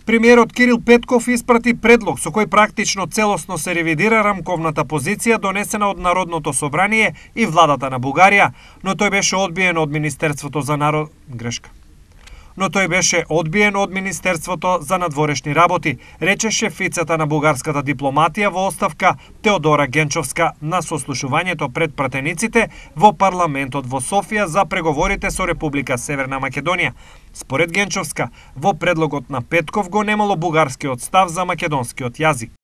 Премиерот Кирил Петков испрати предлог со кој практично целосно се ревидира рамковната позиција донесена од Народното собрание и владата на Бугарија, но тој беше одбиен од Министерството за надворешни работи, рече шефицата на бугарската дипломатија во оставка Теодора Генчовска на сослушувањето пред пратениците во парламентот во Софија за преговорите со Република Северна Македонија. Според Генчовска, во предлогот на Петков го немало бугарскиот став за македонскиот јазик.